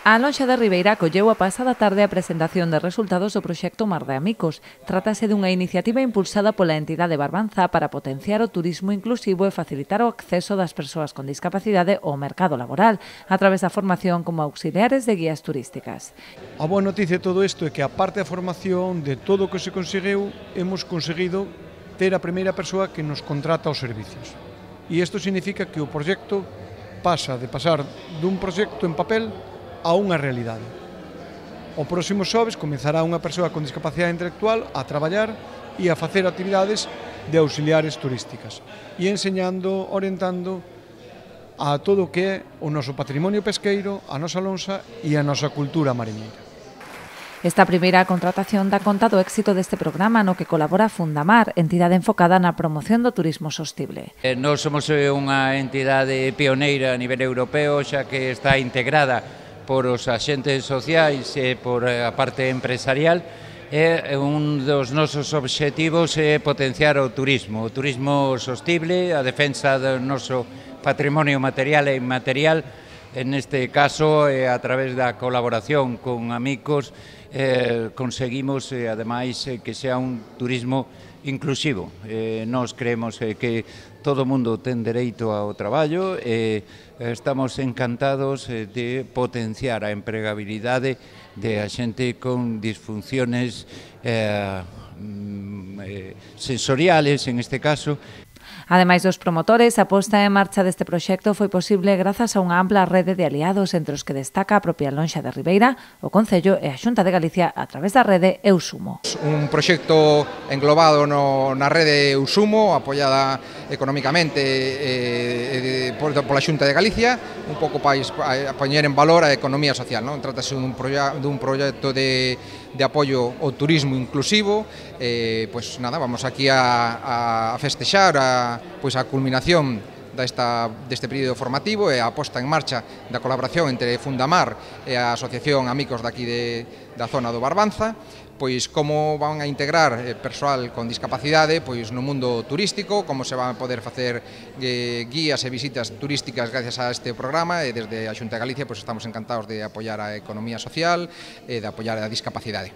A Lonxa de Ribeira acolleu a pasada tarde a presentación de resultados do proxecto Mar de Amicos. Trátase dunha iniciativa impulsada pola entidade Barbanza para potenciar o turismo inclusivo e facilitar o acceso das persoas con discapacidade ao mercado laboral, a través da formación como auxiliares de guías turísticas. A boa noticia de todo isto é que, a parte da formación, de todo o que se conseguiu, hemos conseguido ter a primeira persoa que nos contrata os servicios. E isto significa que o proxecto pasa de pasar dun proxecto en papel a unha realidade. O próximo xoves comezará unha persoa con discapacidade intelectual a traballar e a facer actividades de auxiliares turísticas e enseñando, orientando a todo o que é o noso patrimonio pesqueiro, a nosa lonxa e a nosa cultura mariñeira. Esta primeira contratación dá conta do éxito deste programa no que colabora Fundamar, entidade enfocada na promoción do turismo sostible. Nós somos unha entidade pioneira a nivel europeo, xa que está integrada por os axentes sociais e por a parte empresarial. Un dos nosos obxectivos é potenciar o turismo sostible, a defensa do noso patrimonio material e inmaterial. En este caso, a través da colaboración con amigos, conseguimos, ademais, que sea un turismo inclusivo. Nós creemos que todo o mundo ten dereito ao traballo e estamos encantados de potenciar a empregabilidade de a xente con disfunciones sensoriales, en este caso. Ademais dos promotores, a posta en marcha deste proxecto foi posible grazas a unha ampla rede de aliados, entre os que destaca a propia Lonxa de Ribeira, o Concello e a Xunta de Galicia a través da rede Eusumo. Un proxecto englobado na rede Eusumo, apoiada económicamente pola Xunta de Galicia, un pouco para poñer en valor a economía social. Trátase dun proxecto de apoio ao turismo inclusivo. Vamos aquí a festexar a culminación deste período formativo e a posta en marcha da colaboración entre Fundamar e a Asociación Amigos daqui da zona do Barbanza, como van a integrar persoal con discapacidade no mundo turístico, como se van a poder facer guías e visitas turísticas gracias a este programa, e desde a Xunta de Galicia estamos encantados de apoiar a economía social e de apoiar a discapacidade.